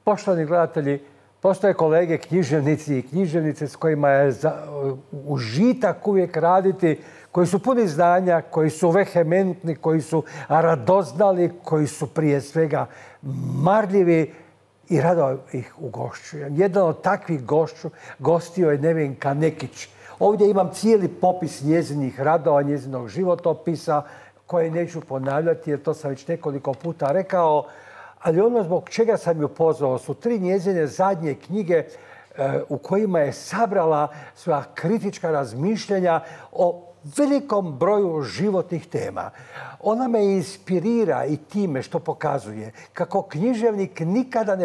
Poštovani gledatelji, postoje kolege književnici i književnice s kojima je užitak uvijek raditi, koji su puni znanja, koji su vehementni, koji su radoznali, koji su prije svega marljivi i rado ih ugošćujem. Jedan od takvih gostio je Nevenka Nekić. Ovdje imam cijeli popis njezinih radova, njezinog životopisa, koje neću ponavljati jer to sam već nekoliko puta rekao. Ali ono zbog čega sam ju pozvao su 3 njezine zadnje knjige u kojima je sabrala svoja kritička razmišljanja o velikom broju životnih tema. Ona me inspirira i time što pokazuje kako književnik nikada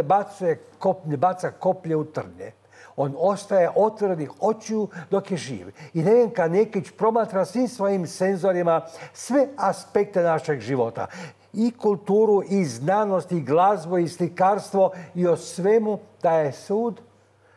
ne baca koplje u trnje. On ostaje otvorenih očiju dok je živ. I Nevenka Nekić promatra svim svojim senzorima sve aspekte našeg života. I kulturu, i znanost, i glazbu, i slikarstvo, i o svemu daje sud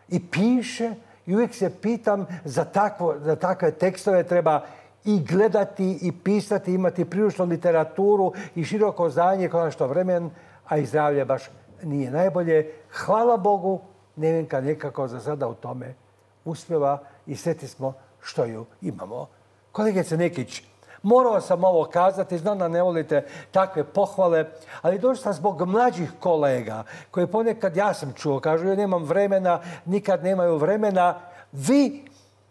i piše. I uvijek se pitam, za takve tekstove treba i gledati, i pisati, imati priličnu literaturu i široko znanje, konačno vremen, a i zdravlje baš nije najbolje. Hvala Bogu, Nevenka nekako za sada u tome uspjeva i sretni smo što ju imamo. Kolegice Nekić, morao sam ovo kazati, znam da ne volite takve pohvale, ali došao sam zbog mlađih kolega koji ponekad, ja sam čuo, kažu ja nemam vremena, nikad nemaju vremena. Vi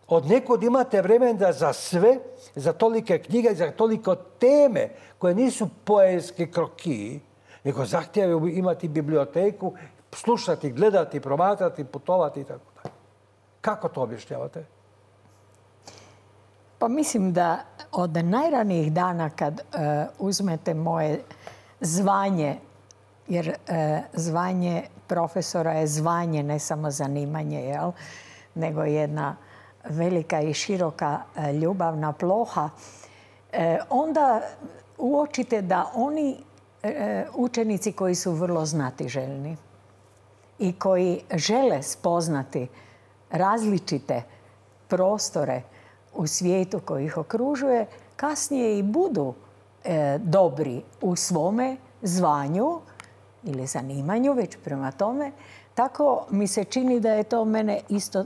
od nekud imate vremena za sve, za tolike knjige, za toliko teme koje nisu poetski krokiji, nego zahtijevaju imati biblioteku, slušati, gledati, promatrati, putovati i tako dalje. Kako to objašnjavate? Pa mislim da od najranijih dana kad uzmete moje zvanje, jer zvanje profesora je zvanje, ne samo zanimanje, jel? Nego jedna velika i široka ljubavna ploha, onda uočite da oni učenici koji su vrlo znatiželjni i koji žele spoznati različite prostore u svijetu koji ih okružuje, kasnije i budu dobri u svome zvanju ili zanimanju, već prema tome. Tako mi se čini da je to mene isto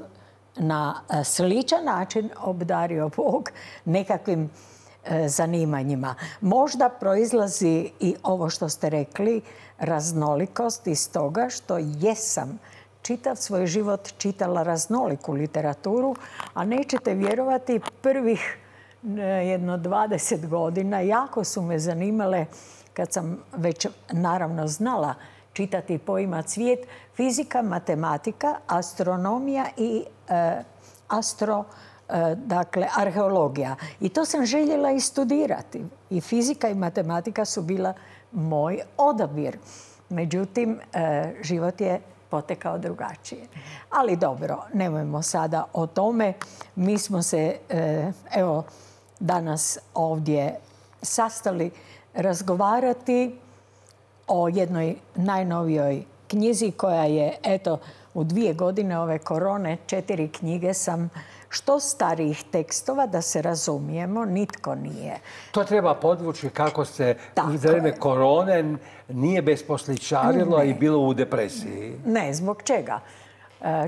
na sličan način obdario Bog nekakvim zanimanjima. Možda proizlazi i ovo što ste rekli, raznolikost iz toga što jesam čitav svoj život čitala raznoliku literaturu, a nećete vjerovati, prvih jedno 20 godina jako su me zanimale, kad sam već naravno znala čitati i poimat svijet, fizika, matematika, astronomija i arheologija. I to sam željela i studirati. I fizika i matematika su bila moj odabir. Međutim, život je potekao drugačije. Ali dobro, nemojmo sada o tome. Mi smo se, evo, danas ovdje sastali razgovarati o jednoj najnovijoj knjizi koja je, eto, u 2 godine ove korone 4 knjige sam, što starijih tekstova, da se razumijemo, nitko nije. To treba podvući kako se u vrijeme korone nije besposličarilo i bilo u depresiji. Ne, zbog čega?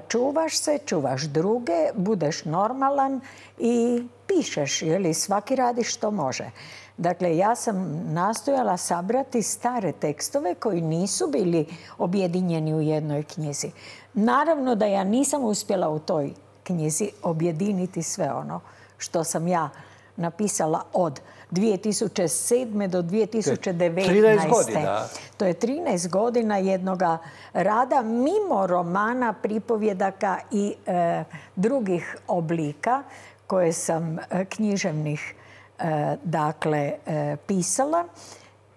Čuvaš se, čuvaš druge, budeš normalan i pišeš, ili svaki radi što može. Dakle, ja sam nastojala sabrati stare tekstove koji nisu bili objedinjeni u jednoj knjizi. Naravno da ja nisam uspjela u toj knjizi objediniti sve ono što sam ja napisala od 2007. do 2019. 13 godina. To je 13 godina jednoga rada mimo romana, pripovjedaka i drugih oblika koje sam književnih pisala.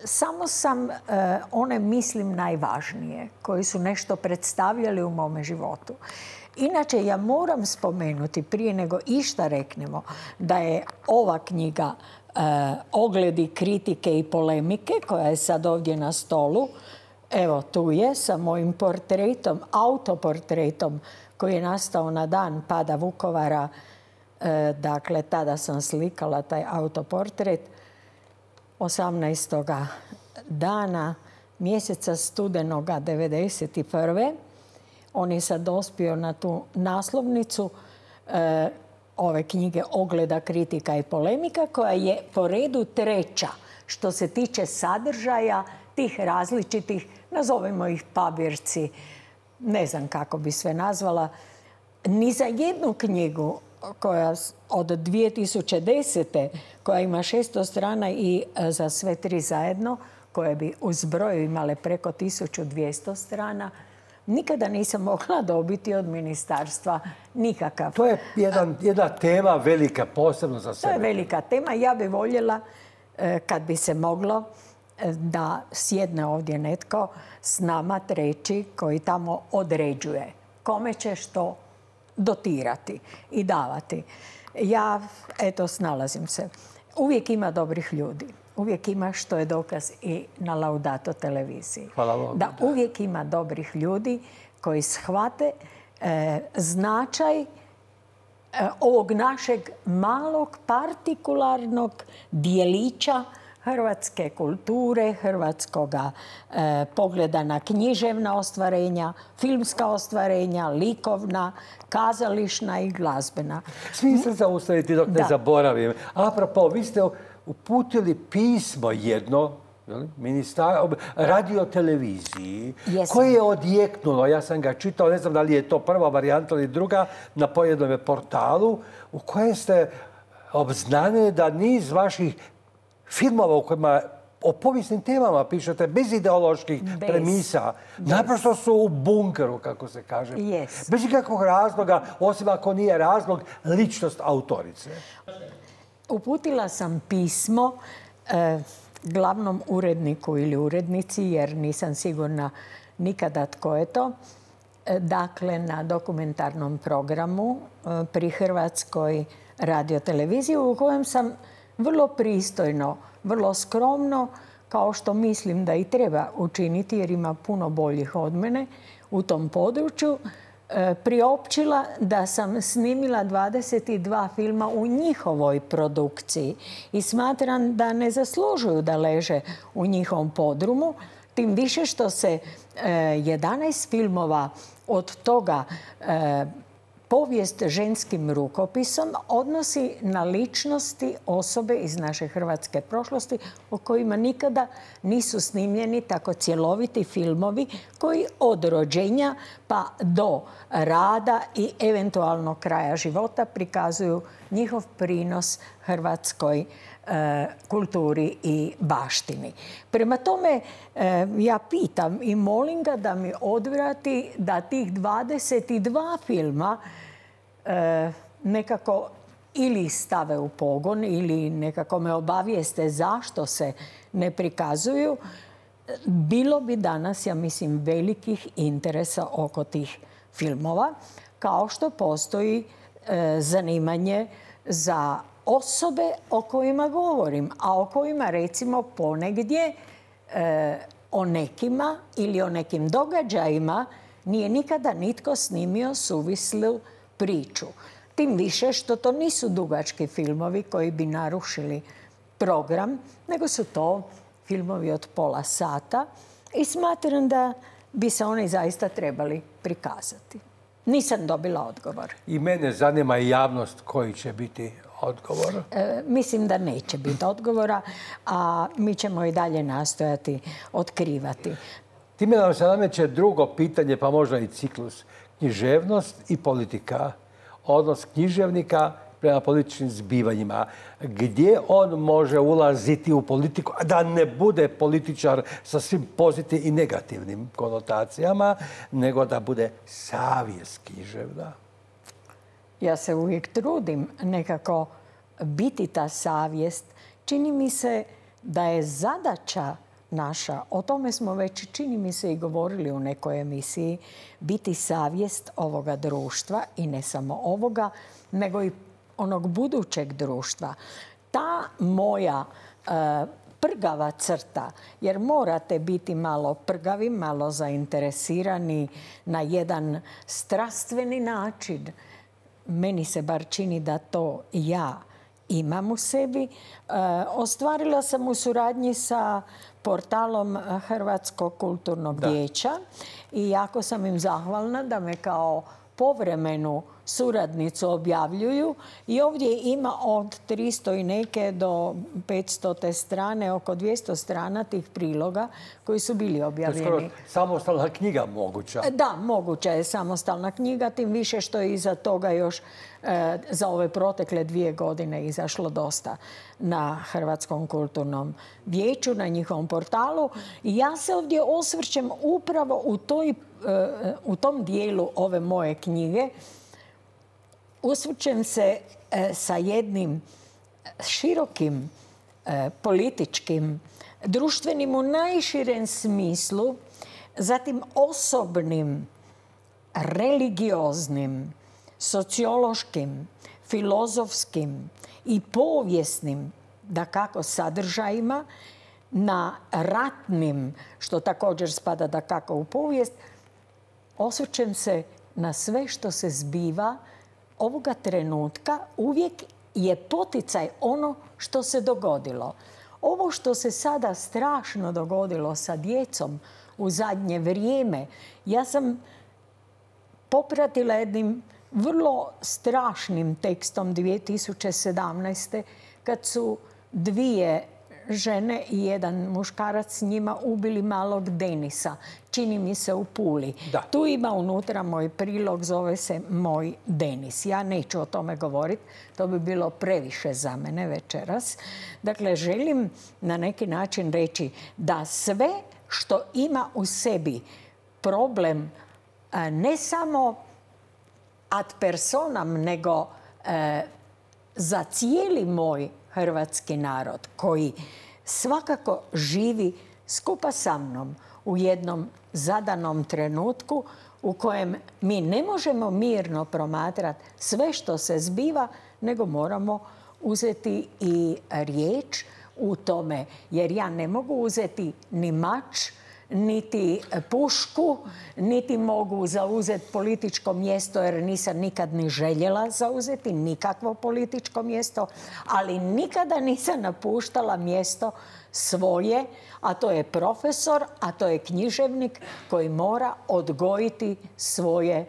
Samo sam one, mislim, najvažnije, koji su nešto predstavljali u mome životu. Inače, ja moram spomenuti, prije nego išta reknemo, da je ova knjiga Ogledi, kritike i polemike, koja je sad ovdje na stolu, evo tu je, sa mojim portretom, autoportretom, koji je nastao na dan pada Vukovara. Dakle, tada sam slikala taj autoportret 18. dana mjeseca studenoga 1991. On je sad dospio na tu naslovnicu ove knjige Ogleda, kritika i polemika, koja je po redu treća što se tiče sadržaja tih različitih, nazovimo ih pabirci, ne znam kako bi sve nazvala, ni za jednu knjigu koja od 2010. koja ima 600 strana i za sve tri zajedno, koje bi u zbroju imale preko 1200 strana, nikada nisam mogla dobiti od ministarstva nikakav. To je jedna tema velika, posebno za sebe. To je velika tema. Ja bih voljela, kad bi se moglo, da sjedne ovdje netko s nama treći koji tamo određuje kome će što dotirati i davati. Ja, eto, snalazim se. Uvijek ima dobrih ljudi. Uvijek ima, što je dokaz i na Laudato televiziji. Hvala Bogu. Da uvijek ima dobrih ljudi koji shvate značaj ovog našeg malog partikularnog dijelića hrvatske kulture, hrvatskoga pogleda na književna ostvarenja, filmska ostvarenja, likovna, kazališna i glazbena. Smijem se zaustaviti dok ne zaboravim. Apropo, vi ste uputili pismo jedno radioteleviziji koje je odjeknulo, ja sam ga čitao, ne znam da li je to prva varijanta ili druga, na pojednom portalu, u kojem ste obznanili da niz vaših filmova u kojima o povijesnim temama pišete, bez ideoloških premisa, naprosto su u bunkeru, kako se kaže. Bez ikakvog razloga, osim ako nije razlog ličnost autorice. Uputila sam pismo glavnom uredniku ili urednici, jer nisam sigurna nikada tko je to, dakle na dokumentarnom programu pri Hrvatskoj radioteleviziji, u kojem sam vrlo pristojno, vrlo skromno, kao što mislim da i treba učiniti, jer ima puno boljih od mene u tom području, priopćila da sam snimila 22 filma u njihovoj produkciji i smatram da ne zaslužuju da leže u njihovom podrumu, tim više što se 11 filmova od toga povijest ženskim rukopisom odnosi na ličnosti, osobe iz naše hrvatske prošlosti o kojima nikada nisu snimljeni tako cjeloviti filmovi koji od rođenja pa do rada i eventualno kraja života prikazuju njihov prinos hrvatskoj kulturi i baštini. Prema tome, ja pitam i molim ga da mi odvrati da tih 22 filma nekako ili stave u pogon ili nekako me obavijeste zašto se ne prikazuju. Bilo bi danas, ja mislim, velikih interesa oko tih filmova, kao što postoji zanimanje za osobe o kojima govorim, a o kojima recimo ponegdje o nekima ili o nekim događajima nije nikada nitko snimio suvislu priču. Tim više što to nisu dugački filmovi koji bi narušili program, nego su to filmovi od pola sata i smatram da bi se oni zaista trebali prikazati. Nisam dobila odgovor. I mene zanima i javnost koji će biti odgovor. Mislim da neće biti odgovora, a mi ćemo i dalje nastojati otkrivati. Time nam se nameće drugo pitanje, pa možda i ciklus. Književnost i politika. Odnos književnika prema političkim zbivanjima. Gdje on može ulaziti u politiku, a da ne bude političar sa svim pozitivnim i negativnim konotacijama, nego da bude savjest književna? Ja se uvijek trudim nekako biti ta savjest. Čini mi se da je zadaća naša, o tome smo već, čini mi se, i govorili u nekoj emisiji, biti savjest ovoga društva i ne samo ovoga, nego i onog budućeg društva. Ta moja prgava crta, jer morate biti malo prgavi, malo zainteresirani na jedan strastveni način. Meni se bar čini da to ja imam u sebi. Ostvarila sam u suradnji sa portalom Hrvatskog kulturnog vijeća i jako sam im zahvalna da me kao povremenu suradnicu objavljuju i ovdje ima od 300 i neke do 500 strane, oko 200 strana tih priloga koji su bili objavljeni. To je skoro samostalna knjiga moguća. Da, moguća je samostalna knjiga, tim više što je iza toga još za ove protekle 2 godine izašlo dosta na Hrvatskom kulturnom vijeću, na njihovom portalu. I ja se ovdje osvrćem upravo u tom dijelu ove moje knjige. Osvrćem se sa jednim širokim političkim, društvenim u najširem smislu, zatim osobnim, religioznim, sociološkim, filozofskim i povijesnim, dakako, sadržajima, na ratnim, što također spada dakako u povijest, osvrćem se na sve što se zbiva ovoga trenutka. Uvijek je poticaj ono što se dogodilo. Ovo što se sada strašno dogodilo sa djecom u zadnje vrijeme, ja sam popratila jednim vrlo strašnim tekstom 2017. kad su 2 žene i 1 muškarac s njima ubili malog Denisa. Čini mi se u Puli. Da. Tu ima unutra moj prilog, zove se Moj Denis. Ja neću o tome govoriti, to bi bilo previše za mene večeras. Dakle, želim na neki način reći da sve što ima u sebi problem ne samo ad personam, nego za cijeli moj hrvatski narod koji svakako živi skupa sa mnom u jednom zadanom trenutku u kojem mi ne možemo mirno promatrati sve što se zbiva, nego moramo uzeti i riječ u tome. Jer ja ne mogu uzeti ni mač, niti pušku, niti mogu zauzeti političko mjesto, jer nisam nikad ni željela zauzeti nikakvo političko mjesto, ali nikada nisam napuštala mjesto svoje, a to je profesor, a to je književnik koji mora odgojiti svoje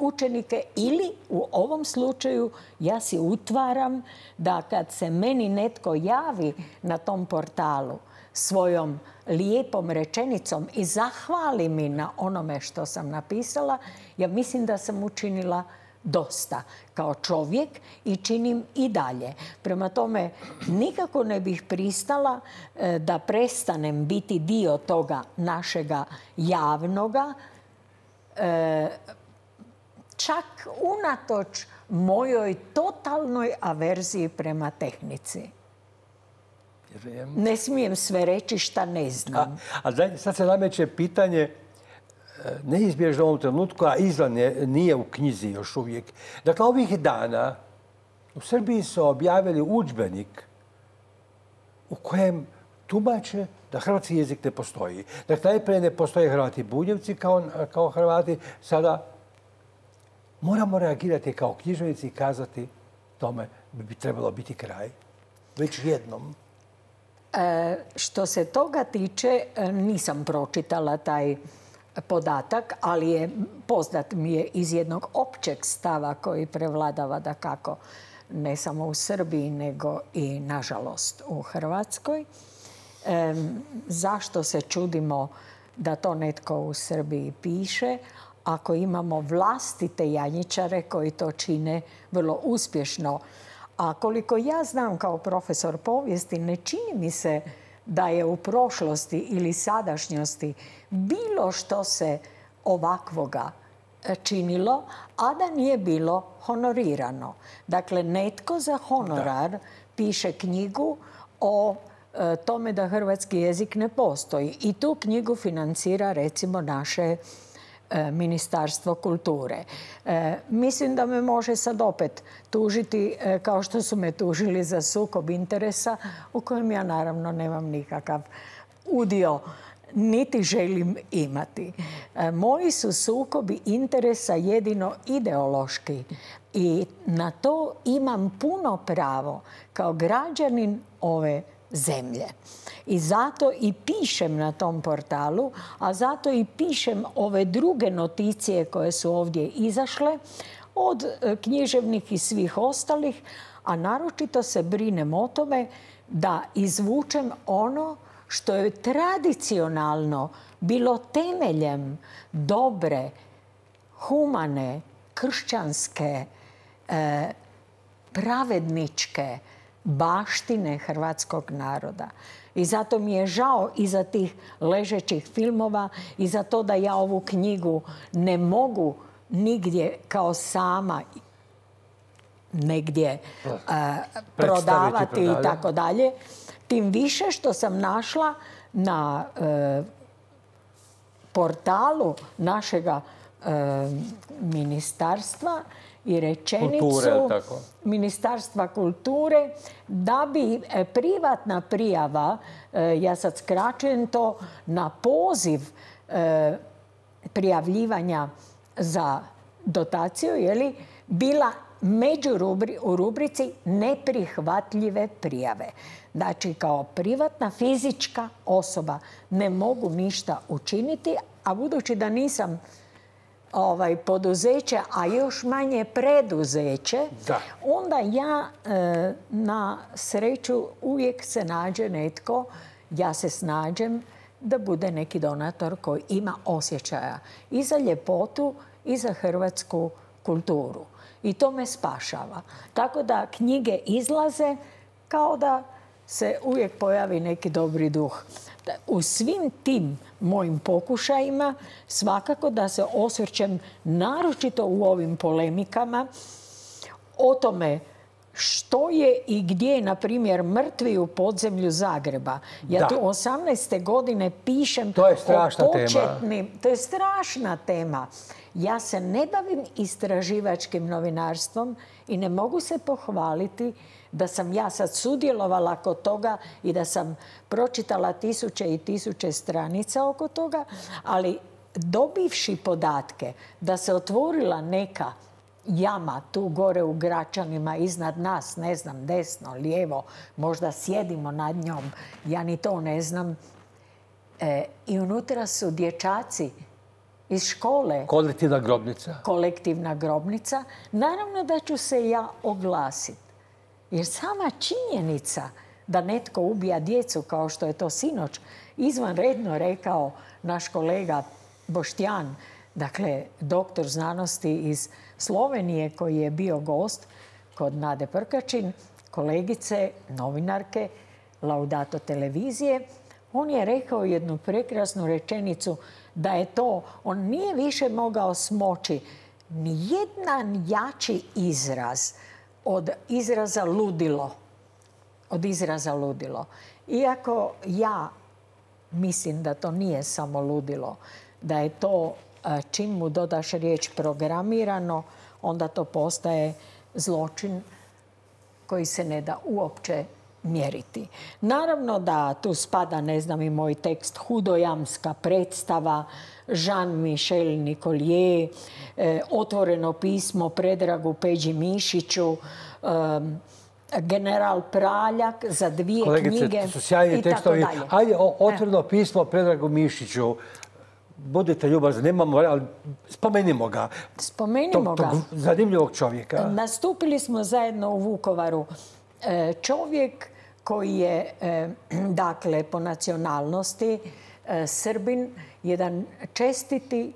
učenike, ili u ovom slučaju ja si utvaram da kad se meni netko javi na tom portalu svojom lijepom rečenicom i zahvali mi na onome što sam napisala, ja mislim da sam učinila dosta kao čovjek i činim i dalje. Prema tome, nikako ne bih pristala da prestanem biti dio toga našega javnoga, čak unatoč mojoj totalnoj averziji prema tehnici. Ne smijem sve reći šta ne znam. Sad se nameće pitanje neizbježno u ovom trenutku, a izvan nije u knjizi još uvijek. Dakle, ovih dana u Srbiji su objavili udžbenik u kojem tumače da hrvatski jezik ne postoji. Dakle, najprije ne postoje Hrvati Bunjevci kao Hrvati. Sada moramo reagirati kao književnici i kazati tome bi trebalo biti kraj. Već jednom. Što se toga tiče, nisam pročitala taj podatak, ali je poznat mi je iz jednog općeg stava koji prevladava dakako ne samo u Srbiji, nego i nažalost u Hrvatskoj. Zašto se čudimo da to netko u Srbiji piše, ako imamo vlastite janjičare koji to čine vrlo uspješno? A koliko ja znam kao profesor povijesti, ne čini mi se da je u prošlosti ili sadašnjosti bilo što se ovakvoga činilo, a da nije bilo honorirano. Dakle, netko za honorar piše knjigu o tome da hrvatski jezik ne postoji. I tu knjigu financira, recimo, naše Ministarstvo kulture. Mislim da me može sad opet tužiti, kao što su me tužili za sukob interesa, u kojem ja naravno nemam nikakav udio niti želim imati. Moji su sukobi interesa jedino ideološki i na to imam puno pravo kao građanin ove zemlje. I zato i pišem na tom portalu, a zato i pišem ove druge noticije koje su ovdje izašle, od književnih i svih ostalih, a naročito se brinem o tome da izvučem ono što je tradicionalno bilo temeljem dobre, humane, kršćanske, pravedničke baštine hrvatskog naroda. I zato mi je žao iza tih ležećih filmova i za to da ja ovu knjigu ne mogu nigdje kao sama negdje prodavati i tako dalje. Tim više što sam našla na portalu našega ministarstva i rečenicu Ministarstva kulture da bi privatna prijava, ja sad skraćujem to, na poziv prijavljivanja za dotaciju, bila u rubrici neprihvatljive prijave. Znači, kao privatna fizička osoba ne mogu ništa učiniti, a budući da nisam poduzeće, a još manje preduzeće, onda ja na sreću uvijek se nađe netko, ja se snađem da bude neki donator koji ima osjećaja i za ljepotu i za hrvatsku kulturu. I to me spašava. Tako da knjige izlaze kao da se uvijek pojavi neki dobri duh. U svim tim mojim pokušajima svakako da se osvrćem naročito u ovim polemikama o tome što je i gdje, na primjer, mrtvi u podzemlju Zagreba. Ja tu 18. godine pišem o početnim... To je strašna tema. Ja se ne bavim istraživačkim novinarstvom i ne mogu se pohvaliti da sam ja sad sudjelovala kod toga i da sam pročitala tisuće i tisuće stranica oko toga, ali dobivši podatke da se otvorila neka jama tu gore u Gračanima iznad nas, ne znam, desno, lijevo, možda sjedimo nad njom, ja ni to ne znam, i unutra su dječaci iz škole. Kolektivna grobnica. Kolektivna grobnica. Naravno da ću se ja oglasiti. Jer sama činjenica da netko ubija djecu, kao što je to sinoć izvanredno rekao naš kolega Boštjan, dakle, doktor znanosti iz Slovenije koji je bio gost kod Nade Prkačin, kolegice, novinarke, Laudato televizije, on je rekao jednu prekrasnu rečenicu da je to, on nije više mogao smoći ni jedan jači izraz od izraza ludilo. Od izraza ludilo. Iako ja mislim da to nije samo ludilo, da je to, čim mu dodaš riječ programirano, onda to postaje zločin koji se ne da uopće mjeriti. Naravno da tu spada, ne znam, i moj tekst Hudojamska predstava, Jean-Michel Nicolier, otvoreno pismo Predragu Peđi Mišiću, General Praljak za 2 knjige. Kolegice, to su sjajni tekstovi. Ajde, otvoreno pismo Predragu Mišiću. Budite ljubazni, nemamo, ali spomenimo ga. Spomenimo ga. Tog zanimljivog čovjeka. Nastupili smo zajedno u Vukovaru. Čovjek koji je, dakle, po nacionalnosti Srbin, jedan čestiti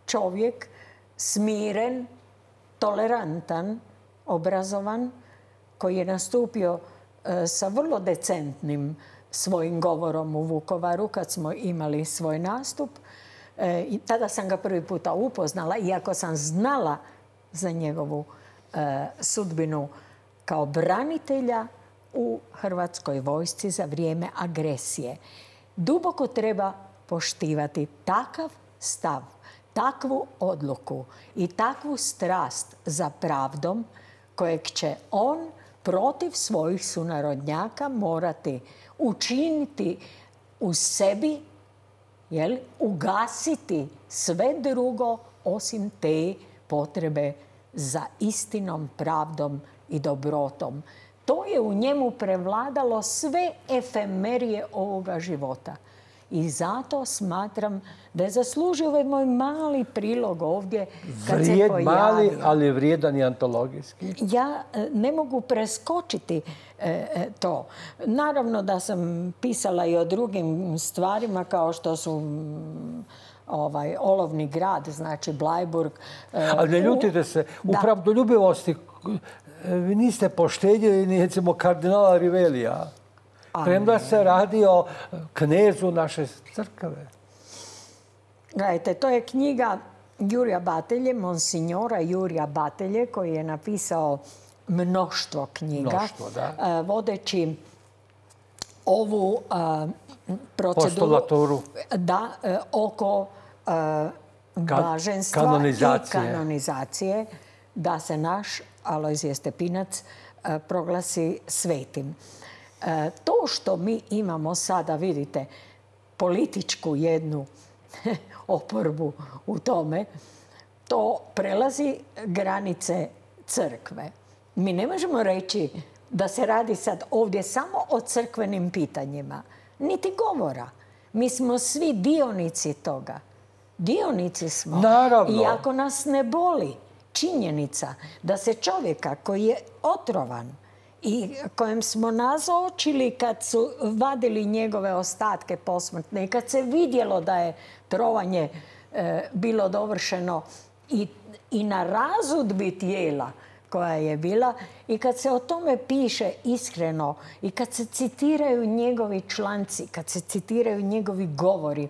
čovjek, smiren, tolerantan, obrazovan, koji je nastupio sa vrlo decentnim svojim govorom u Vukovaru kad smo imali svoj nastup. I tada sam ga prvi puta upoznala, iako sam znala za njegovu sudbinu kao branitelja u Hrvatskoj vojsci za vrijeme agresije. Duboko treba poštivati takav stav, takvu odluku i takvu strast za pravdom kojeg će on protiv svojih sunarodnjaka morati učiniti u sebi ugasiti sve drugo osim te potrebe za istinom, pravdom i dobrotom. To je u njemu prevladalo sve efemerije ovoga života. I zato smatram da je zaslužio ovaj moj mali prilog ovdje kad se pojavio. Mali, ali vrijedan i antologijski. Ja ne mogu preskočiti to. Naravno da sam pisala i o drugim stvarima kao što su Olovni grad, znači Blajburg. Ali ne ljutite se, u pravdoljubivosti vi niste poštedjeli ni recimo kardinala Rivelija. Premda se radi o knezu naše crkve. Gledajte, to je knjiga Jurija Batelje, monsignora Jurija Batelje, koji je napisao mnoštvo knjiga. Mnoštvo, da. Vodeći ovu proceduru postulaturu oko blaženstva i kanonizacije, da se naš Alojzije Stepinac proglasi svetim. To što mi imamo sada, vidite, političku jednu oporbu u tome, to prelazi granice crkve. Mi ne možemo reći da se radi sad ovdje samo o crkvenim pitanjima. Niti govora. Mi smo svi dionici toga. Dionici smo. Naravno. I ako nas ne boli činjenica da se čovjeka koji je otrovan i kojem smo nazočili kad su vadili njegove ostatke posmrtne i kad se vidjelo da je trovanje bilo dovršeno i na razudbi tijela koja je bila, i kad se o tome piše iskreno i kad se citiraju njegovi članci, kad se citiraju njegovi govori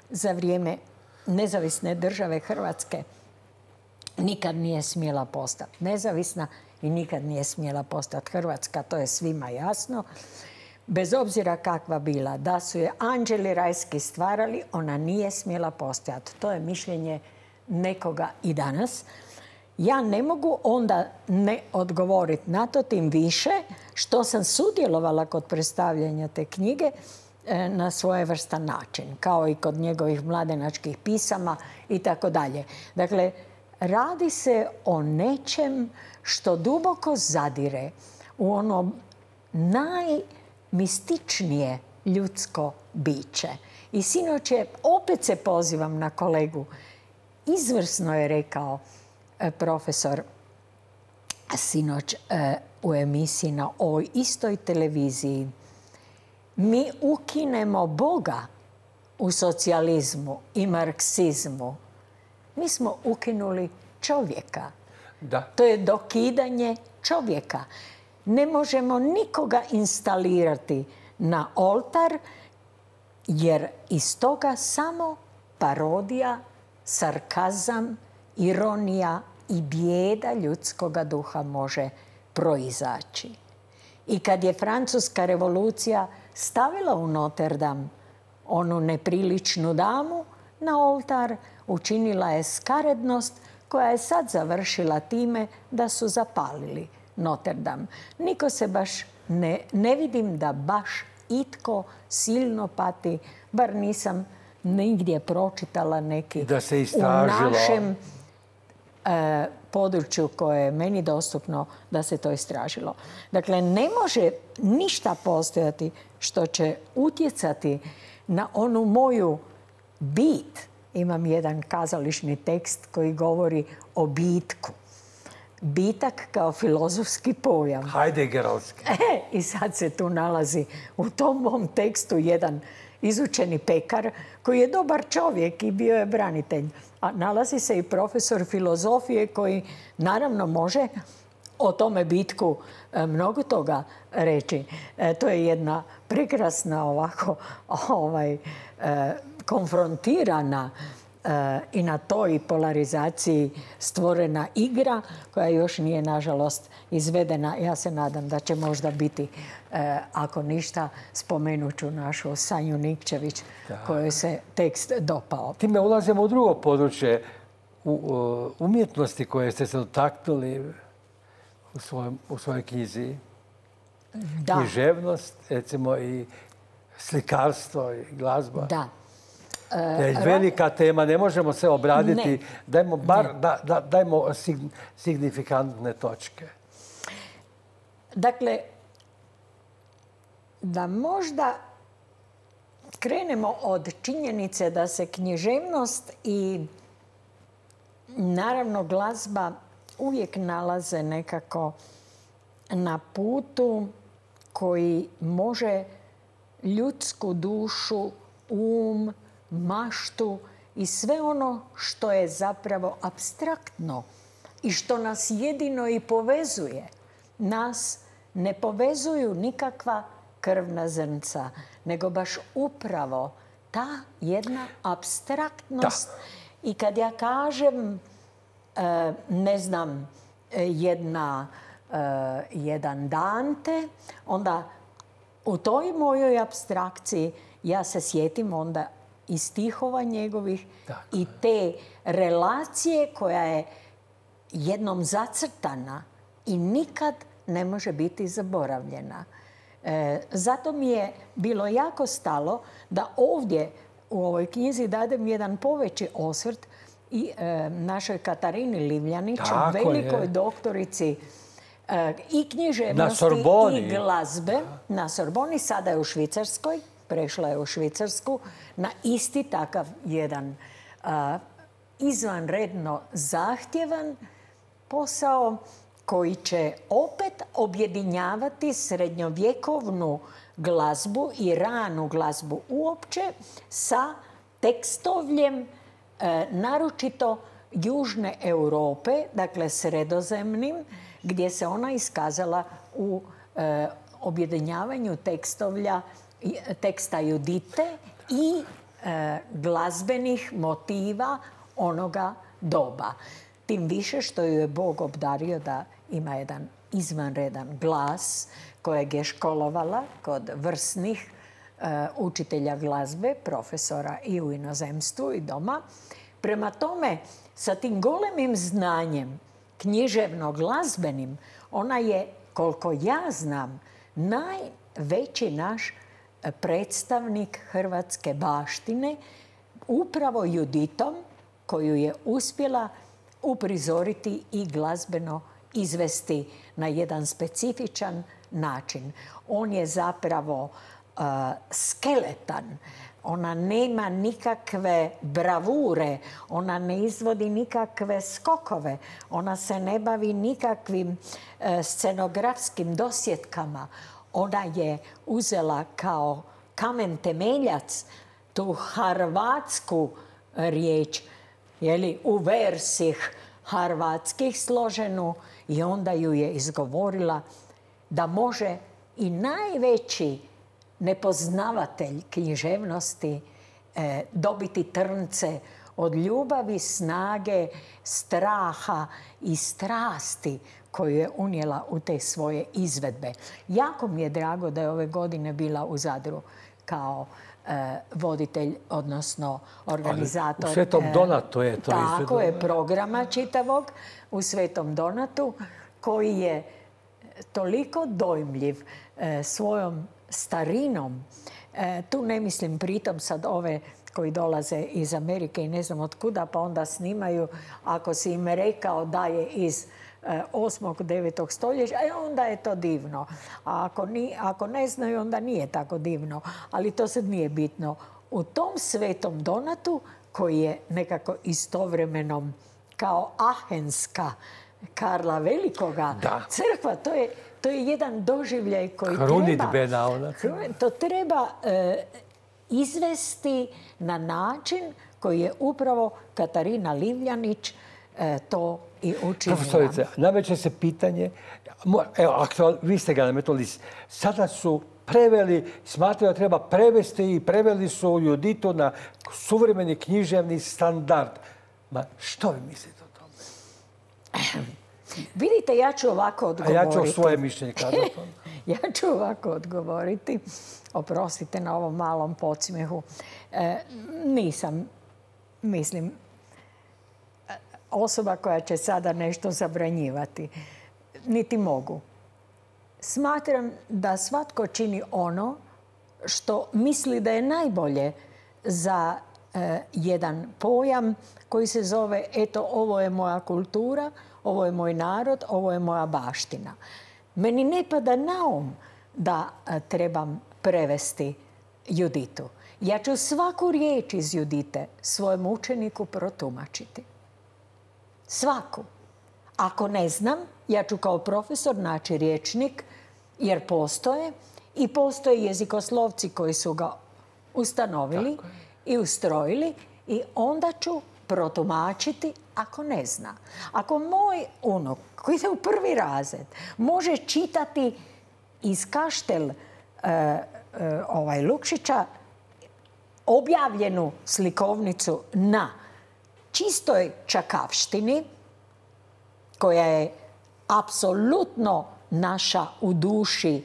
za vrijeme nezavisne države Hrvatske, nikad nije smjela postati nezavisna i nikad nije smjela postati Hrvatska, to je svima jasno. Bez obzira kakva bila, da su je anđeli rajski stvarali, ona nije smjela postojati. To je mišljenje nekoga i danas. Ja ne mogu onda ne odgovoriti na to, tim više što sam sudjelovala kod predstavljanja te knjige na svojevrstan način, kao i kod njegovih mladenačkih pisama i tako dalje. Dakle, radi se o nečem što duboko zadire u ono najmističnije ljudsko biće. I sinoć je, opet se pozivam na kolegu, izvrsno je rekao profesor sinoć u emisiji na ovoj istoj televiziji. Mi ukinemo Boga u socijalizmu i marksizmu. Mi smo ukinuli čovjeka. Da. To je dokidanje čovjeka. Ne možemo nikoga instalirati na oltar, jer iz toga samo parodija, sarkazam, ironija i bijeda ljudskoga duha može proizaći. I kad je Francuska revolucija stavila u Notre Dame onu nepriličnu damu na oltar, učinila je skarednost koja je sad završila time da su zapalili Notre Dame. Niko se baš ne vidim da baš itko silno pati, bar nisam nigdje pročitala neki da se istražilo u našem području koje je meni dostupno da se to istražilo. Dakle, ne može ništa postojati što će utjecati na onu moju bit. Imam jedan kazališni tekst koji govori o bitku. Bitak kao filozofski pojam. Heideggerovski. I sad se tu nalazi u tom mom tekstu jedan izučeni pekar koji je dobar čovjek i bio je branitelj. A nalazi se i profesor filozofije koji naravno može o tome bitku mnogo toga reći. To je jedna prekrasna ovako konfrontirana i na toj polarizaciji stvorena igra koja još nije, nažalost, izvedena. Ja se nadam da će možda biti, ako ništa, spomenut ću našu Sanju Nikčević, kojoj se tekst dopao. Time ulazimo u drugo područje umjetnosti koje ste se dotaknuli u svojoj knjizi. Da. Književnost, recimo i slikarstvo i glazba. Da. velika tema, ne možemo se obraditi. Dajmo dajmo signifikantne točke. Dakle, da možda krenemo od činjenice da se književnost i naravno glazba uvijek nalaze nekako na putu koji može ljudsku dušu, maštu i sve ono što je zapravo apstraktno i što nas jedino i povezuje. Nas ne povezuju nikakva krvna zrnca, nego baš upravo ta jedna apstraktnost. I kad ja kažem, ne znam, jedan Dante, onda u toj mojoj apstrakciji ja se sjetim onda i stihova njegovih i te relacije koja je jednom zacrtana i nikad ne može biti zaboravljena. Zato mi je bilo jako stalo da ovdje u ovoj knjizi dadem jedan poveći osvrt i našoj Katarini Livljanić, velikoj doktorici i književnosti i glazbe na Sorboni. Sada je u Švicarskoj, prešla je u Švicarsku na isti takav jedan izvanredno zahtjevan posao koji će opet objedinjavati srednjovjekovnu glazbu i ranu glazbu uopće sa tekstovljem naročito Južne Europe, dakle sredozemnim, gdje se ona iskazala u objedinjavanju teksta Judite i glazbenih motiva onoga doba. Tim više što ju je Bog obdario da ima jedan izvanredan glas kojeg je školovala kod vrsnih učitelja glazbe, profesora i u inozemstvu i doma. Prema tome, sa tim golemim znanjem književno-glazbenim, ona je, koliko ja znam, najveći naš predstavnik hrvatske baštine, upravo Juditom, koju je uspjela uprizoriti i glazbeno izvesti na jedan specifičan način. On je zapravo skeletan. Ona nema nikakve bravure, ona ne izvodi nikakve skokove, ona se ne bavi nikakvim scenografskim dosjetkama. Ona je uzela kao kamen temeljac tu harvatsku riječ, u versih harvatskih složenu, i onda ju je izgovorila da može i najveći nepoznavatelj književnosti dobiti trnce od ljubavi, snage, straha i strasti koju je unijela u te svoje izvedbe. Jako mi je drago da je ove godine bila u Zadru kao voditelj, odnosno organizator. U Svetom Donatu je to izvedeno. Tako je, programa čitavog u Svetom Donatu, koji je toliko dojmljiv svojom starinom. Tu ne mislim pritom sad ove koji dolaze iz Amerike i ne znam od kuda, pa onda snimaju, ako si im rekao da je iz 8. 9. stoljeća, onda je to divno. A ako ne znaju, onda nije tako divno. Ali to sad nije bitno. U tom Svetom Donatu, koji je nekako istovremeno kao Ahenska Karla Velikoga crkva, to je jedan doživljaj koji treba izvesti na način koji je upravo Katarina Livljanić to i učinila. Profesorice, nameće se pitanje, evo, vi ste ga nametnuli, sada su preveli, smatraju da treba prevesti i preveli su Juditu na suvremeni književni standard. Ma što vi mislite o tome? Vidite, ja ću ovako odgovoriti. A ja ću svoje mišljenje kazati. Ja ću ovako odgovoriti. Oprostite na ovom malom podsmjehu. Nisam, mislim, osoba koja će sada nešto zabranjivati. Niti mogu. Smatram da svatko čini ono što misli da je najbolje za jedan pojam koji se zove eto, ovo je moja kultura, ovo je moj narod, ovo je moja baština. Meni ne pada na um da trebam prevesti Juditu. Ja ću svaku riječ iz Judite svojem učeniku protumačiti. Svaku. Ako ne znam, ja ću kao profesor naći rječnik, jer postoje i postoje jezikoslovci koji su ga ustanovili i ustrojili i onda ću protumačiti ako ne zna. Ako moj unuk koji ide u 1. razred može čitati iz Kaštel Lukšića objavljenu slikovnicu na čistoj čakavštini, koja je apsolutno naša u duši,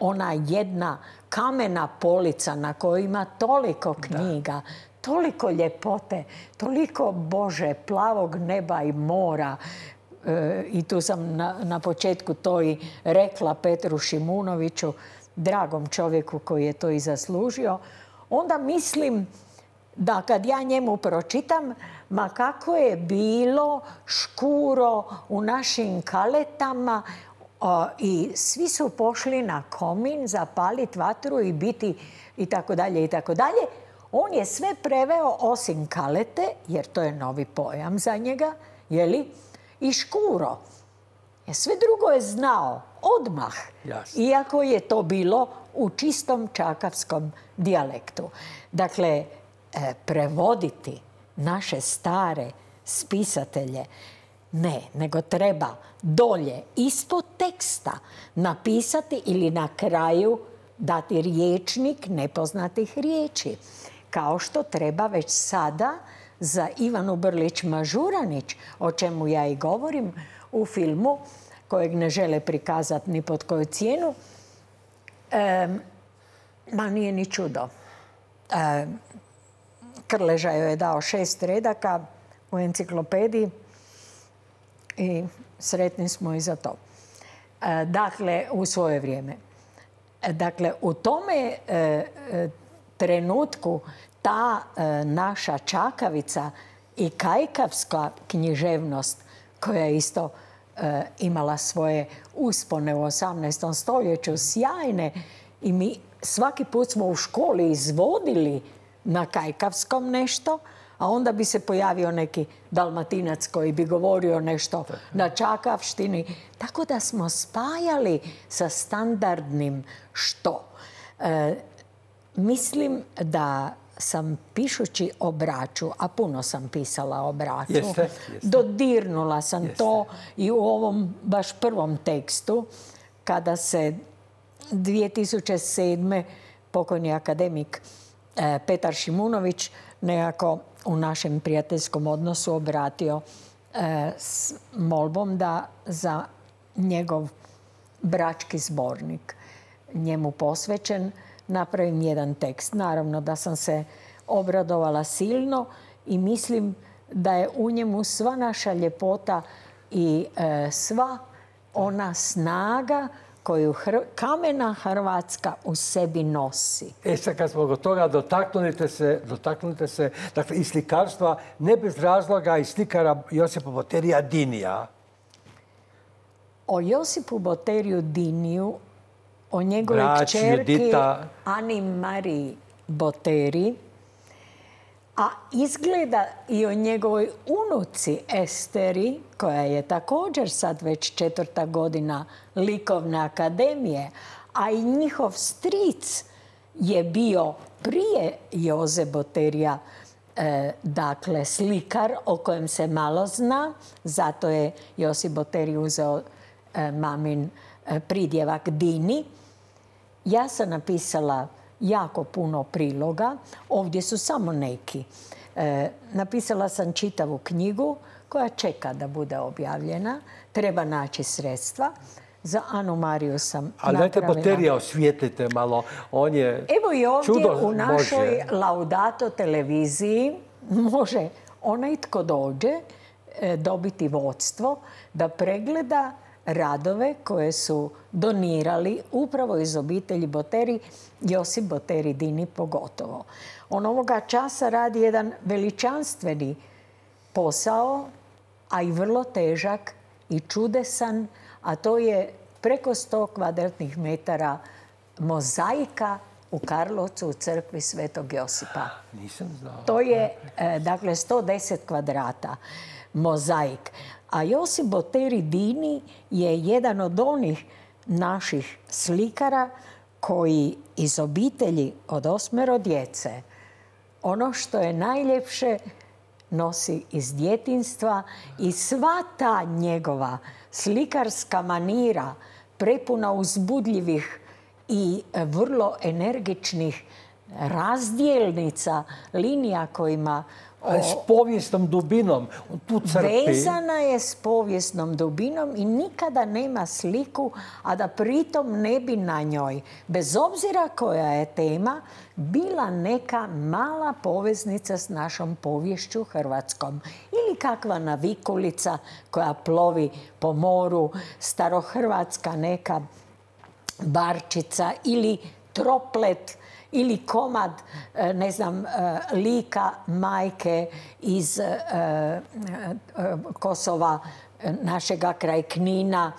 ona jedna kamena polica na kojoj ima toliko knjiga, toliko ljepote, toliko Bože, plavog neba i mora. I tu sam na početku to i rekla Petru Šimunoviću, dragom čovjeku koji je to i zaslužio. Onda mislim da kad ja njemu pročitam, ma kako je bilo škuro u našim kaletama i svi su pošli na komin zapaliti vatru i biti i tako dalje i tako dalje. On je sve preveo osim kalete, jer to je novi pojam za njega, jeli? I škuro. Sve drugo je znao odmah, iako je to bilo u čistom čakavskom dijalektu. Dakle, prevoditi naše stare spisatelje ne, nego treba dolje ispod teksta napisati ili na kraju dati rječnik nepoznatih riječi. Kao što treba već sada za Ivanu Brlić-Mažuranić, o čemu ja i govorim u filmu, kojeg ne žele prikazati ni pod koju cijenu, ma nije ni čudo. Krleža joj je dao 6 redaka u enciklopediji i sretni smo i za to. Dakle, u svoje vrijeme. Dakle, u tome trenutku ta naša čakavica i kajkavska književnost, koja je isto imala svoje uspone u 18. stoljeću, sjajne, i mi svaki put smo u školi izvodili na kajkavskom nešto, a onda bi se pojavio neki Dalmatinac koji bi govorio nešto na čakavštini. Tako da smo spajali sa standardnim što. Mislim da sam pišući o Braču, a puno sam pisala o Braču, dodirnula sam to i u ovom baš prvom tekstu, kada se 2007. pokojni akademik Petar Šimunović nekako u našem prijateljskom odnosu obratio s molbom da za njegov brački zbornik, njemu posvećen, napravim jedan tekst. Naravno da sam se obradovala silno i mislim da je u njemu sva naša ljepota i sva ona snaga koju kamena Hrvatska u sebi nosi. Sad kad smo od toga, dotaknite se dakle, i slikarstva, ne bez razloga, i slikara Josipa Boterija Dinija. O Josipu Boteriju Diniju, o njegovoj kćerki Ani Mariji Boteri, a izgleda i o njegovoj unuci Esteri, koja je također sad već 4. godina Likovne akademije, a i njihov stric je bio prije Joze Boterija, dakle slikar o kojem se malo zna, zato je Josip Boteri uzeo mamin pridjevak Dini. Ja sam napisala jako puno priloga, ovdje su samo neki. Napisala sam čitavu knjigu koja čeka da bude objavljena. Treba naći sredstva. Za Anu Mariju sam napravila. Ali dajte Boterija osvijetlite malo. On je evo i ovdje u našoj Laudato televiziji može onaj tko dođe dobiti vodstvo da pregleda radove koje su donirali upravo iz obitelji Boteri, Josip Boteri Dini pogotovo. On ovoga časa radi jedan veličanstveni posao, a i vrlo težak i čudesan, a to je preko 100 kvadratnih metara mozaika u Karlovcu u crkvi Svetog Josipa. Nisam znao. To je, dakle, 110 kvadrata mozaik. A Josip Boteri Dini je jedan od onih naših slikara koji iz obitelji od 8 djece ono što je najljepše nosi iz djetinjstva i sva ta njegova slikarska manira prepuna uzbudljivih i vrlo energičnih razdjelnica, linija kojima ali s povijesnom dubinom. Tu crpi. Vezana je s povijesnom dubinom i nikada nema sliku, a da pritom ne bi na njoj, bez obzira koja je tema, bila neka mala poveznica s našom poviješću hrvatskom. Ili kakva navikulica koja plovi po moru, starohrvatska neka barčica ili troplet, ili komad, ne znam, lika majke iz Kosova, našega kraj Knina,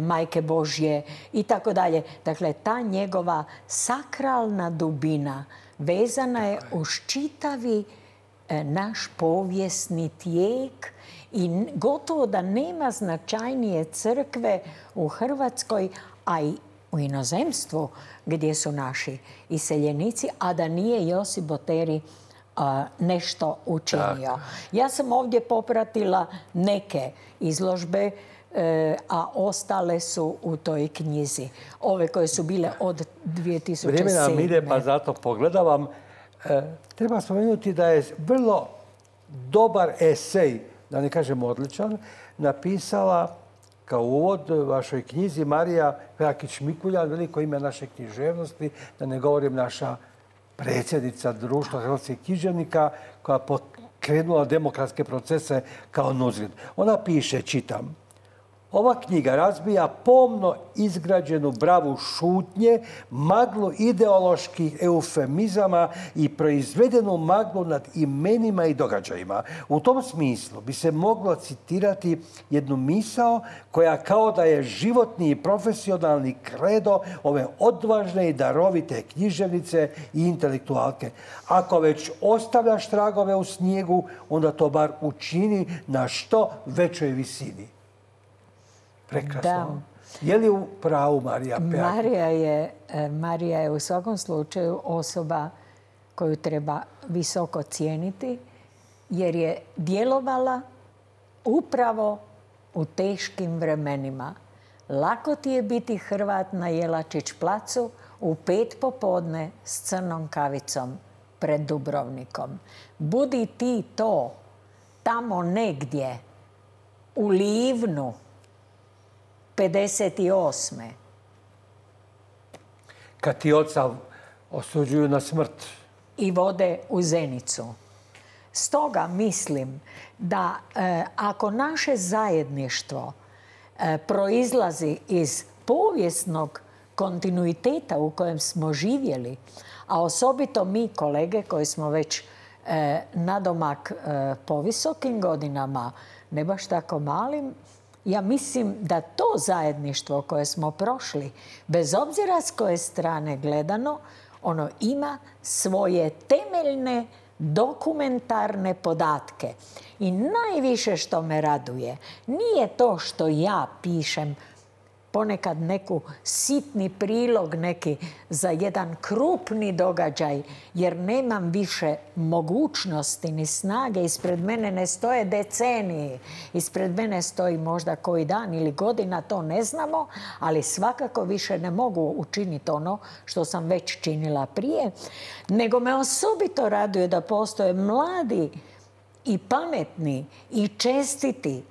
Majke Božje i tako dalje. Dakle, ta njegova sakralna dubina vezana je uz čitavi naš povijesni tijek i gotovo da nema značajnije crkve u Hrvatskoj, a i u inozemstvu gdje su naši iseljenici, a da nije Josip Boteri nešto učinio. Ja sam ovdje popratila neke izložbe, a ostale su u toj knjizi. Ove koje su bile od 2007. Vrijeme nam ide, pa zato pogledavam. Treba spomenuti da je vrlo dobar esej, da ne kažem odličan, napisala kao uvod vašoj knjizi Marija Pejakić-Mikuljan, veliko ime naše književnosti, da ne govorim naša predsjednica Društva hrvatskih književnika koja je pokrenula demokratske procese kao Nuzrid. Ona piše, čitam, ova knjiga razbija pomno izgrađenu bravu šutnje, maglu ideoloških eufemizama i proizvedenu maglu nad imenima i događajima. U tom smislu bi se moglo citirati jednu misao koja kao da je životni i profesionalni kredo ove odvažne i darovite književnice i intelektualke. Ako već ostavljaš tragove u snijegu, onda to bar učini na što većoj visini. Prekrasno. Je li u pravu Marija Pejakić? Marija je u svakom slučaju osoba koju treba visoko cijeniti, jer je djelovala upravo u teškim vremenima. Lako ti je biti Hrvat na Jelačić placu u 5 popodne s crnom kavicom pred Dubrovnikom. Budi ti to tamo negdje u Livnu 58. Kad ti oca osuđuju na smrt. I vode u Zenicu. Stoga mislim da ako naše zajedništvo proizlazi iz povijesnog kontinuiteta u kojem smo živjeli, a osobito mi kolege koji smo već nadomak po visokim godinama, ne baš tako malim, ja mislim da to zajedništvo koje smo prošli, bez obzira s koje strane gledano, ono ima svoje temeljne dokumentarne podatke. I najviše što me raduje nije to što ja pišem ponekad neku sitni prilog neki za jedan krupni događaj, jer nemam više mogućnosti ni snage. Ispred mene ne stoje decenije. Ispred mene stoji možda koji dan ili godina, to ne znamo, ali svakako više ne mogu učiniti ono što sam već činila prije. Nego me osobito raduje da postoje mladi i pametni i čestiti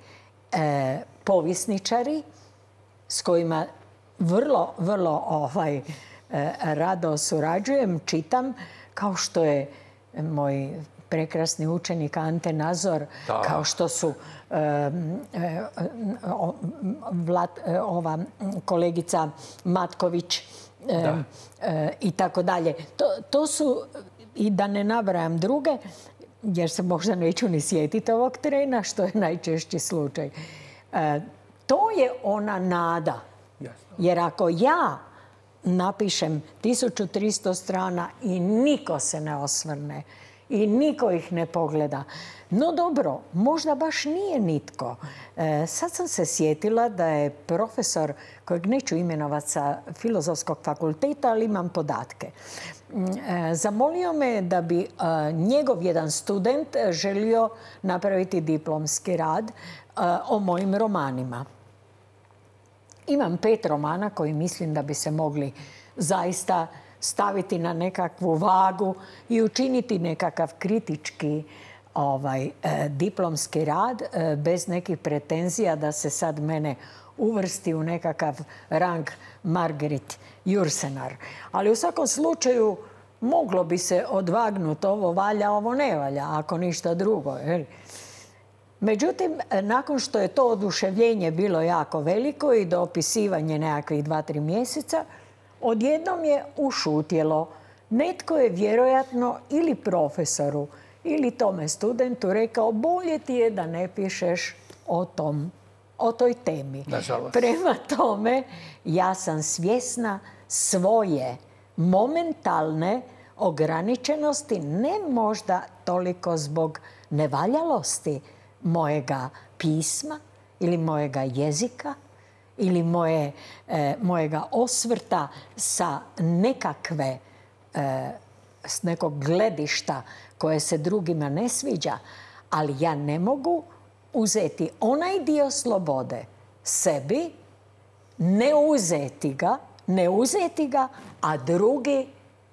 povjesničari s kojima vrlo rado surađujem, čitam, kao što je moj prekrasni učenik Ante Nazor, kao što su ova kolegica Matković i tako dalje. To su, i da ne nabrajam druge, jer se možda neću ni sjetiti ovog trena, što je najčešći slučaj. To je ona nada. Jer ako ja napišem 1300 strana i niko se ne osvrne i niko ih ne pogleda, no dobro, možda baš nije nitko. Sad sam se sjetila da je profesor, kojeg neću imenovati sa Filozofskog fakulteta, ali imam podatke, zamolio me da bi njegov jedan student želio napraviti diplomski rad o mojim romanima. Imam 5 romana koji mislim da bi se mogli zaista staviti na nekakvu vagu i učiniti nekakav kritički diplomski rad bez nekih pretenzija da se sad mene uvrsti u nekakav rang Margaret Jursenar. Ali u svakom slučaju moglo bi se odvagnuti ovo valja, ovo ne valja, ako ništa drugo. Međutim, nakon što je to oduševljenje bilo jako veliko i do opisivanja nekakvih 2-3 mjeseca, odjednom je ušutjelo. Netko je vjerojatno ili profesoru ili tome studentu rekao bolje ti je da ne pišeš o toj temi. Nažalost. Prema tome, ja sam svjesna svoje momentalne ograničenosti, ne možda toliko zbog nevaljalosti mojega pisma ili mojega jezika ili mojega osvrta sa s nekog gledišta koje se drugima ne sviđa, ali ja ne mogu uzeti onaj dio slobode sebi, ne uzeti ga, a drugi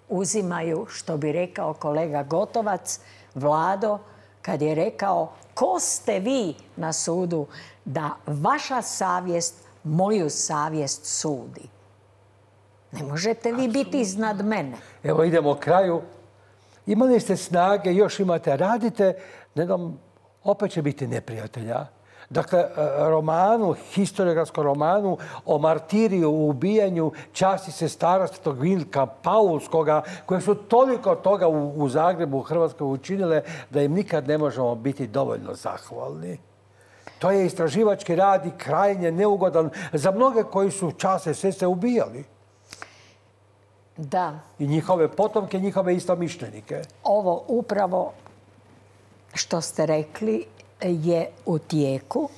uzimaju, što bi rekao kolega Gotovac, Vlado, kad je rekao ko ste vi na sudu da vaša savjest moju savjest sudi. Ne možete vi biti iznad mene. Evo idemo kraju. Imali ste snage, još imate, radite, opet će biti neprijatelja. Dakle, historiografskom romanu o martiriju, u ubijanju časti sestara Svetog Vilka Paulskoga, koje su toliko toga u Zagrebu, u Hrvatskoj učinile da im nikad ne možemo biti dovoljno zahvalni. To je istraživački rad i krajnje neugodan za mnoge koji su časne sestre ubijali. Da. I njihove potomke, njihove istomišljenike. Ovo upravo što ste rekli je u tijeku.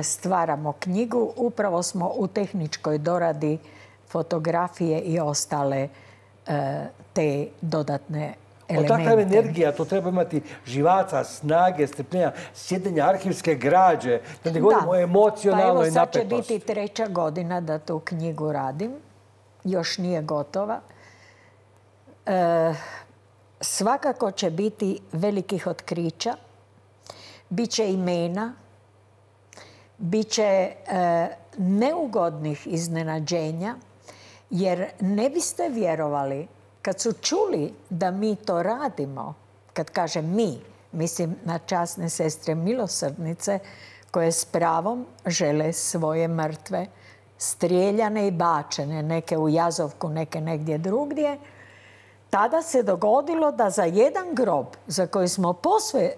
Stvaramo knjigu. Upravo smo u tehničkoj doradi fotografije i ostale te dodatne elemente. Takva energija, to treba imati živaca, snage, strpljenja, sjedenja, arhivske građe. Da ne govorimo o emocionalnoj napetosti. Pa evo sad će biti 3. godina da tu knjigu radim. Još nije gotova. Svakako će biti velikih otkrića. Biće imena. Biće neugodnih iznenađenja. Jer ne biste vjerovali kad su čuli da mi to radimo, kad kažem mi, mislim na časne sestre milosrdnice koje s pravom žele svoje mrtve strijeljane i bačene, neke u Jazovku, neke negdje drugdje, tada se dogodilo da za jedan grob za koji smo posve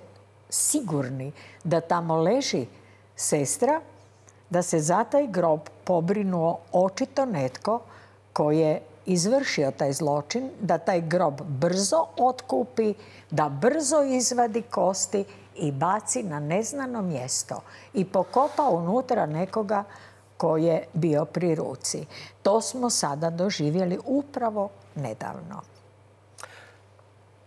sigurni da tamo leži sestra, da se za taj grob pobrinuo očito netko koji je izvršio taj zločin, da taj grob brzo otkupi, da brzo izvadi kosti i baci na neznano mjesto i pokopa unutra nekoga koji je bio pri ruci. To smo sada doživjeli upravo nedavno.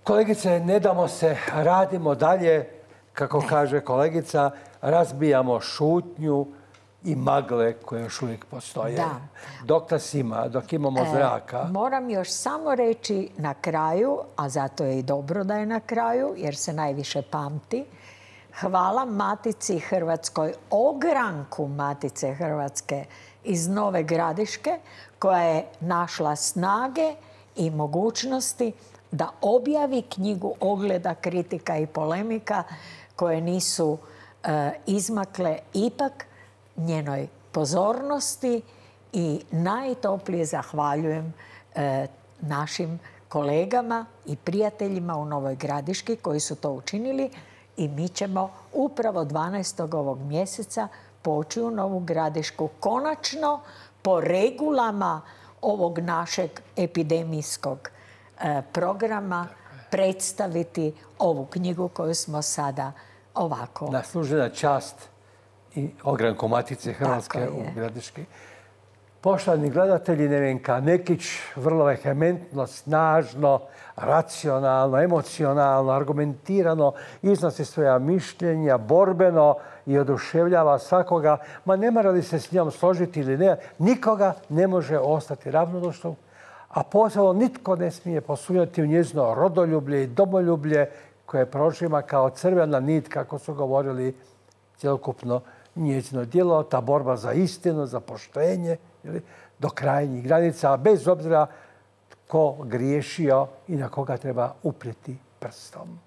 Kolegice, ne damo se, radimo dalje, kako kaže kolegica, razbijamo šutnju i magle koje još uvijek postoje. Da. Dok nas ima, dok imamo zraka. Moram još samo reći na kraju, a zato je i dobro da je na kraju, jer se najviše pamti. Hvala Matici Hrvatskoj, ogranku Matice Hrvatske iz Nove Gradiške, koja je našla snage i mogućnosti da objavi knjigu ogleda, kritika i polemika koje nisu izmakle ipak njenoj pozornosti i najtoplije zahvaljujem našim kolegama i prijateljima u Novoj Gradiški koji su to učinili i mi ćemo upravo 12. ovog mjeseca poći u Novu Gradišku konačno po regulama ovog našeg epidemijskog programa predstaviti ovu knjigu koju smo sada ovako... Naslužena čast i ogranko Matice Hrvatske u Gradiški. Poštovani gledatelji, Nevenka Nekić vrlo vehementno, snažno, racionalno, emocionalno, argumentirano iznosi svoja mišljenja, borbeno i oduševljava svakoga. Ma ne mora li se s njom složiti ili ne, nikoga ne može ostati ravnodušnom, a posebno nitko ne smije posumnjati u njezino rodoljublje i domoljublje koje prožima kao crvena nit, kako su govorili, cjelokupno njezino djelo, ta borba za istinu, za poštenje, do krajnjih granica, bez obzira tko griješio i na koga treba uprijeti prstom.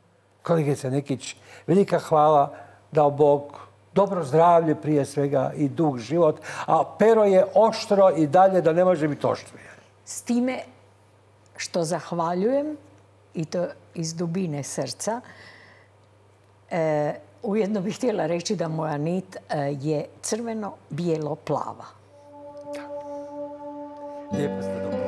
Kolegice Nekić, velika hvala, dao Bog dobro zdravlje prije svega i dug život, a pero je oštro i dalje da ne može biti oštrije. S time što zahvaljujem, i to iz dubine srca, ujedno bih htjela reći da moja nit je crveno-bijelo-plava. Lijepo ste dobro.